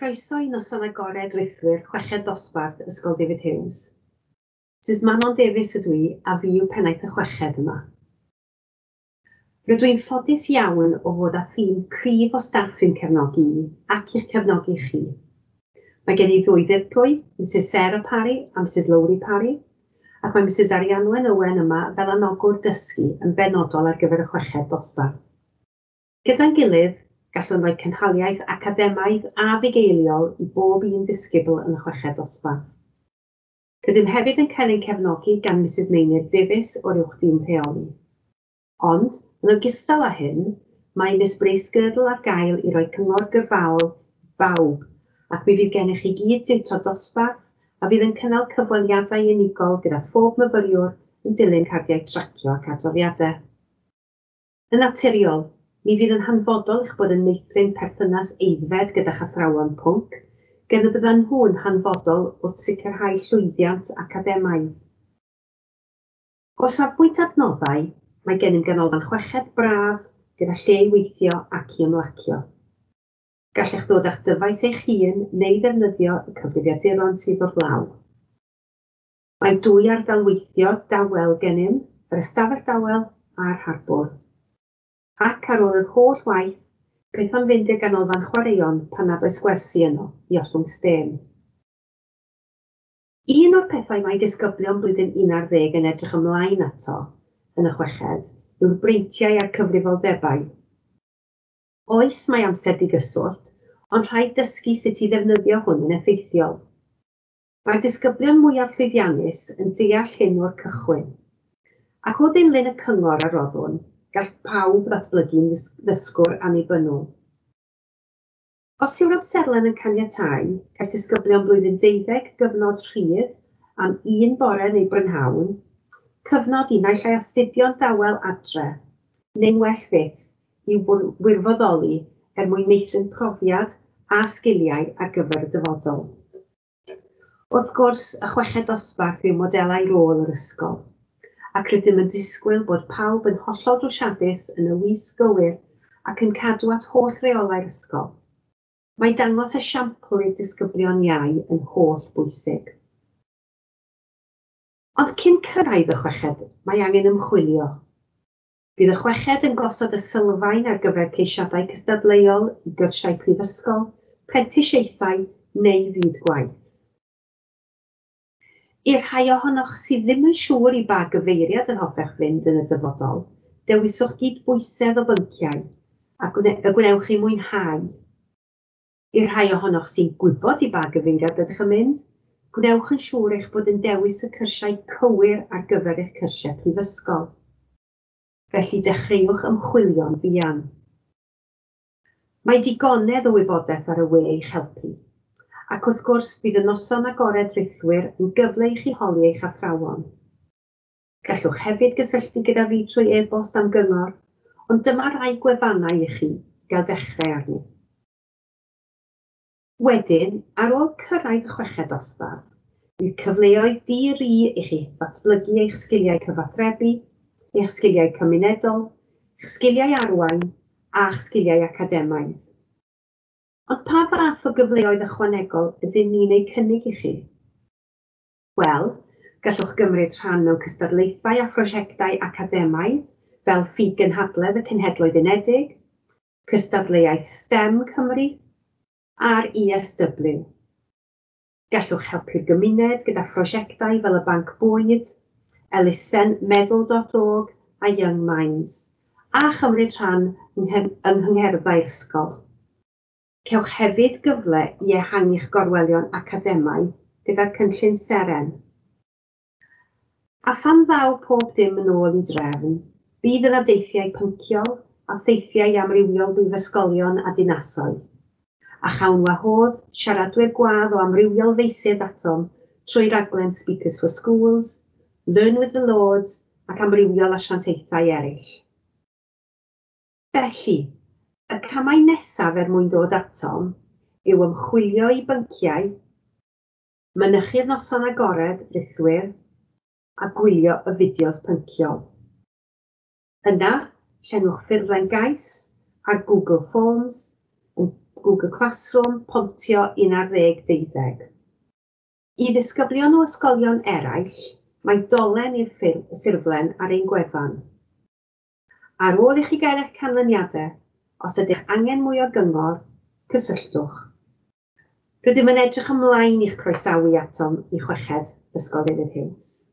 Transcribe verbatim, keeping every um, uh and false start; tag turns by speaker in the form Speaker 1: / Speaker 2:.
Speaker 1: Croeso i noson agored rithwir chweched dosbarth Ysgol David Hughes. Misus Manon Davies ydw i a fi yw pennaeth y chweched yma. Rydw i'n ffodus iawn o fod â thîm cryf o staff i'm cefnogi i ac i'ch cefnogi chi. Mae gen i ddwy ddirprwy, Misus Sarah Parry a Misus Lowri Parry, ac mae Misus Arianwen Owen yma fel anogwr dysgu yn benodol ar gyfer y chweched dosbarth. Gyda'n gilydd, gallwn roi cynhaliaeth academaidd a fugeiliol i bob un disgybl yn y chweched dosbarth. Rydym hefyd yn cael ein cefnogi gan Misus Meinir Davies o'r uwch dîm rheoli. Ond, yn ogystal â hyn, mae Miss Bracegirdle ar gael i roi cyngor gyrfaol i bawb, ac mi fydd gennych chi gyd diwtor dosbarth a fydd yn cynnal cyfweliadau unigol gyda phob myfyriwr yn dilyn cardiau tracio ac adroddiadau. Yn naturiol, mi fydd yn hanfodol eich bod yn meithrin perthynas aeddfed gyda'ch athrawon pwnc, gan y byddan nhw'n hanfodol wrth sicrhau llwyddiant academaidd. O safbwynt adnoddau, mae gennym ganolfan chweched braf gyda lle i weithio ac i ymlacio. Gallech ddod â'ch dyfais eich hun neu ddefnyddio y cyfrifiaduron sydd wrth law. Mae dwy ardal weithio dawel gennym, yr ystafell dawel a'r harbwr. Ac ar ôl yr holl waith, beth am fynd i'r ganolfan chwaraeon pan nad oes gwersi yno i ollwng stêm. Un o'r pethau mae disgyblion blwyddyn un ar ddeg yn edrych ymlaen ato yn y chweched yw'r breintiau a'r cyfrifoldebau. Oes, mae amser digyswllt, ond rhaid dysgu sut i ddefnyddio hwn yn effeithiol. Mae'r disgyblion mwyaf llwyddiannus yn deall hyn o'r cychwyn, ac o ddilyn y cyngor a roddwn, gall pawb ddatblygu'n ddysgwr annibynnol. Os yw'r amserlen yn caniatáu, caiff disgyblion blwyddyn deuddeg gyfnod rhydd am un bore neu brynhawn, cyfnod i naill ai astudio'n dawel adre, neu'n well fyth i wirfoddoli er mwyn meithrin profiad a sgiliau ar gyfer y dyfodol. Wrth gwrs, y chweched dosbarth yw modelau rôl yr ysgol, ac rydym yn disgwyl bod pawb yn hollol drwsiadus yn y wisg gywir ac yn cadw at holl reolau'r ysgol. Mae dangos esiampl i'r disgyblion iau yn holl bwysig. Ond cyn cyrraedd y chweched, mae angen ymchwilio. Bydd y chweched yn gosod y sylfaen ar gyfer ceisiadau cystadleuol i gyrsiau prifysgol, prentisiaethau neu fyd gwaith. I'r rhai ohonoch sydd ddim yn siŵr i ba gyfeiriad yr hoffech fynd yn y dyfodol, dewiswch gydbwysedd o bynciau a gwne y gwnewch chi mwynhau. I'r rhai ohonoch sy'n gwybod i ba gyfeiriad ydych yn mynd, gwnewch yn siŵr eich bod yn dewis y cyrsiau cywir ar gyfer eich cyrsiau prifysgol. Felly dechreuwch ymchwilio'n fuan. Mae digonedd o wybodaeth ar y we i'ch helpu. Ac wrth gwrs, bydd y noson agored rithwir yn gyfle i chi holi eich athrawon. Gallwch hefyd gysylltu gyda fi trwy e-bost am gyngor, ond dyma rai gwefannau i chi gael dechrau arni. Wedyn, ar ôl cyrraedd y chweched dosbarth, bydd cyfleoedd di-ri i chi ddatblygu eich sgiliau cyfathrebu, eich sgiliau cymunedol, eich sgiliau arwain a'ch sgiliau academaidd. Ond pa fath o gyfleoedd ychwanegol ydyn ni'n eu cynnig i chi? Wel, gallwch gymryd rhan mewn cystadlaethau a phrosiectau academaidd fel Ffug-gynhadledd y Cenhedloedd Unedig, cystadleuaeth STEM Cymru a'r E S W. Gallwch helpu'r gymuned gyda phrosiectau fel y Banc Bwyd, elusen meddwl dot org a Young Minds, a chymryd rhan yng nghyngherddau'r ysgol. Cewch hefyd gyfle i ehangu'ch gorwelion academaidd gyda'r cynllun Seren. A phan ddaw pob dim yn ôl i drefn, bydd yna deithiau pynciol a theithiau amrywiol brifysgolion a dinasoedd. A chawn wahodd siaradwyr gwadd o amrywiol feysydd atom trwy raglen Speakers for Schools, Learn with the Lords ac amrywiol asiantaethau eraill. Felly, y camau nesaf er mwyn dod atom yw ymchwilio i bynciau, mynychu'r noson agored rithwir a gwylio y fideos pynciol. Yna, llenwch ffurflen gais ar Google Forms yn Google Classroom, Pontio un ar ddeg deuddeg. I ddisgyblion o ysgolion eraill, mae dolen i'r ffurflen ar ein gwefan. Ar ôl i chi gael eich canlyniadau, os ydych angen mwy o gyngor, cysylltwch. Rydym yn edrych ymlaen i'ch croesawu atom i chweched Ysgol David Hughes.